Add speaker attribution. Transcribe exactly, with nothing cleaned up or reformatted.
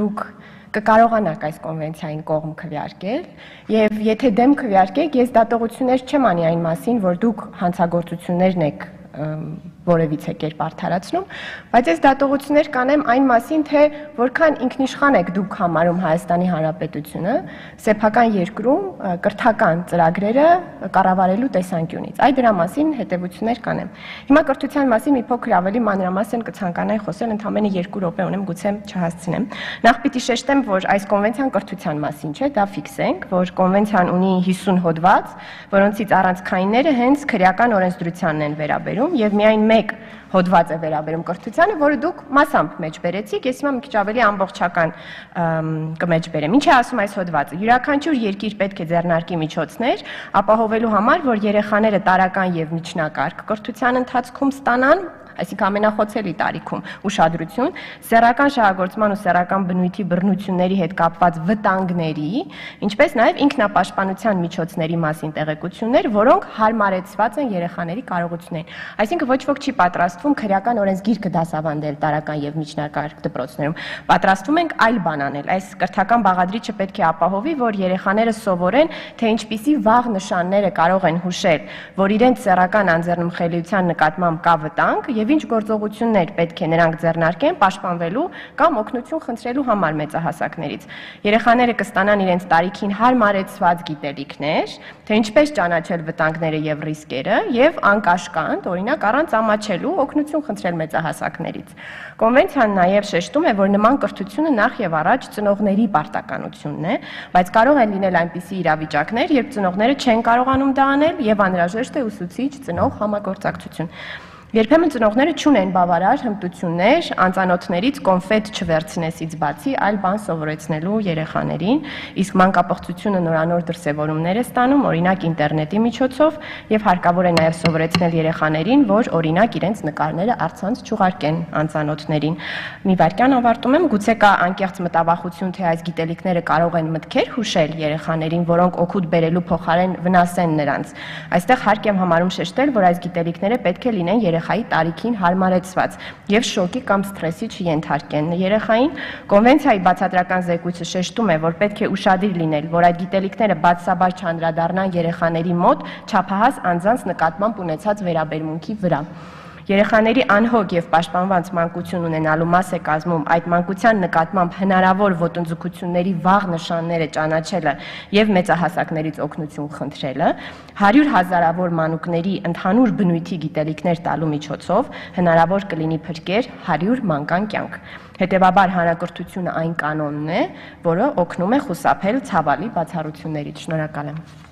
Speaker 1: Դուք կկարողանաք այս կոնվենցիային կողմ քվեարկել եւ եթե դեմ քվեարկեք, ես դատողություններ չեմ անի այն մասին, որ դուք հանցագործություններն եք որևիցե կերպ արդարացնում, բայց այս դատողություններ կանեմ այն մասին, թե որքան ինքնիշխան եք դուք համարում Հայաստանի Հանրապետությունը սեփական երկրում կրթական ծրագրերը կառավարելու տեսանկյունից։ Այդ դրա մասին հետևություններ կանեմ։ Հիմա կրթության մասին մի փոքր ավելի մանրամասն կցանկանայի խոսել, ընդամենը երկու րոպե ունեմ, գուցե չհասցնեմ։ Նախ պիտի շեշտեմ, որ այս կոնվենցիան կրթության մասին չէ, դա ֆիքսենք, որ կոնվենցիան ունի հիսուն հոդված, որոնցից առանցքայինները հենց քրեական օրենսդրությանն են վերաբերում եւ միայն մեկ հոդված է վերաբերում կրթությանը, որը դուք մասամբ մեջբերեցիք, ես հիմա մի քիչ ավելի ամբողջական կմեջբերեմ։ Ինչ է ասում այս հոդվածը։ Յուրաքանչյուր երկիր պետք է ձեռնարկի միջոցներ ապահովելու համար, որ երեխաները տարրական եւ միջնակարգ կրթության ընթացքում ստանան, այսինքն ամենախոցելի տարիքում ուշադրություն, սեռական շահագործման ու սեռական բնույթի բռնությունների հետ կապված վտանգների, ինչպես նաև ինքնապաշտպանության միջոցների մասին տեղեկություններ, որոնք հարմարեցված են երեխաների կարողություններին։ Այսինքն ոչ ոք չի պատրաստվում քրեական օրենսգիրքը դասավանդել տարրական եւ միջնակարգ դպրոցներում։ Պատրաստվում ենք այլ բան անել։ Այս կրթական բաղադրիչը պետք է ապահովի, որ երեխաները սովորեն, թե ինչպիսի վաղ նշանները կարող են հուշել, որ իրենց սեռական անձեռնմխելիության նկատմամբ կա վտանգ եւ ինչ գործողություններ պետք է նրանք ձեռնարկեն պաշտպանվելու կամ օգնություն խնդրելու համար մեծահասակներից։ Երեխաները կստանան իրենց տարիքին հարմարեցված գիտելիքներ, թե ինչպես ճանաչել վտանգները եւ ռիսկերը եւ անկաշկանդ, օրինակ առանց ամաչելու օգնություն խնդրել մեծահասակներից։ Կոնվենցիան նաեւ շեշտում է, որ նման կրթությունը նախ եւ առաջ ծնողների պարտականությունն է, բայց կարող են լինել այնպիսի իրավիճակներ, երբ ծնողները չեն կարողանում դա անել եւ անհրաժեշտ է ուսուցիչ ծնող համագործակցություն։ Երբեմն ծնողները չունեն բավարար հմտություններ անծանոթներից կոնֆետ չվերցնեսից բացի այլ բան սովորեցնելու երեխաներին, իսկ մանկապղծությունը նորանոր դրսևորումներ է ստանում, օրինակ ինտերնետի միջոցով, եւ հարկավոր է նաեւ սովորեցնել երեխաներին, որ օրինակ իրենց նկարները առցանց չուղարկեն անծանոթներին։ Մի վայրկյան ավարտում եմ, գուցե կա անկեղծ մտավախություն, թե այս գիտելիքները կարող են մտքեր հուշել երեխաներին, որոնք օգուտ բերելու փոխարեն վնասեն նրանց։ Այստեղ հարկ եմ համարում շեշտել, որ այս գիտելիքները պետք է լինեն երեխայի տարիքին հարմարեցված եւ շոկի կամ սթրեսի չենթարկեն երեխային։ Կոնվենցիայի բացատրական զեկույցը շեշտում է, որ պետք է ուշադիր լինել, որ այդ գիտելիքները բացասաբար չանդրադառնան երեխաների մոտ չափահաս անձանց նկատմամբ ունեցած վերաբերմունքի վրա։ Երեխաների անհոգ եւ պաշտպանված մանկություն ունենալու մաս է կազմում այդ մանկության նկատմամբ հնարավոր ոտնձգությունների վաղ նշանները ճանաչելը եւ մեծահասակներից օգնություն խնդրելը, հարյուր հազարավոր մանուկների ընդհանուր բնույթի գիտելիքներ տալու միջոցով հնարավոր կլինի փրկել հարյուր մանկան կյանք։ Հետևաբար հանրակրթությունը այն կանոնն է, որը օգնում է խուսափել ցավալի բացառություններից։ Շնորհակալ եմ։